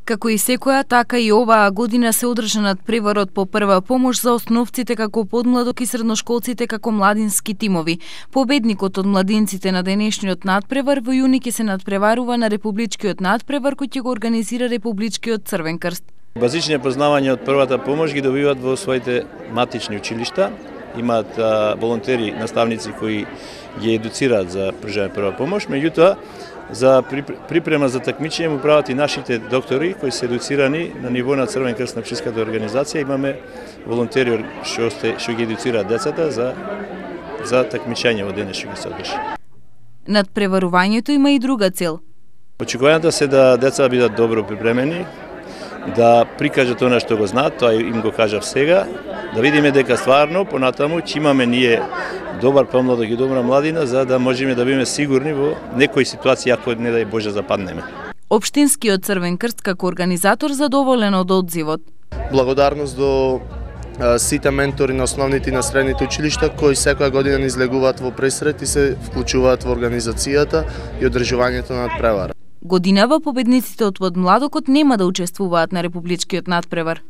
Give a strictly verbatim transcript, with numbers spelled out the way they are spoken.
Како и секоја, така и оваа година се одржа надпреварот по прва помош за основците како подмладок и средношколците како младински тимови. Победникот од младинците на денешниот надпревар во јуни ќе се надпреварува на републичкиот надпревар кој ќе го организира Републичкиот Црвен крст. Базични познавања од првата помош ги добиваат во своите матични училишта. Имаат а, волонтери, наставници кои ги едуцираат за пружање прва помош, меѓутоа за припрема за такмичење му прават и нашите доктори кои се едуцирани на ниво на Црвен крст на пчелската организација. Имаме волонтери што што ги едуцираат децата за за такмичење во денес што ги се одржи. Надпреварувањето има и друга цел. Очекувањата се да деца бидат добро припремени, да прикажат она што го знаат, тоа им го кажав сега, да видиме дека стварно понатаму ќе имаме ние добар помладок и добра младина за да можеме да бидеме сигурни во некои ситуации ако не дај Боже западнеме. Општинскиот Црвен крст како организатор задоволен од одзивот. Благодарност до а, сите ментори на основните и на средните училишта кои секоја година ни излегуваат во пресрет и се вклучуваат во организацијата и одржувањето на надпревара. Годинава победниците од подмладокот нема да учествуваат на републичкиот надпревар.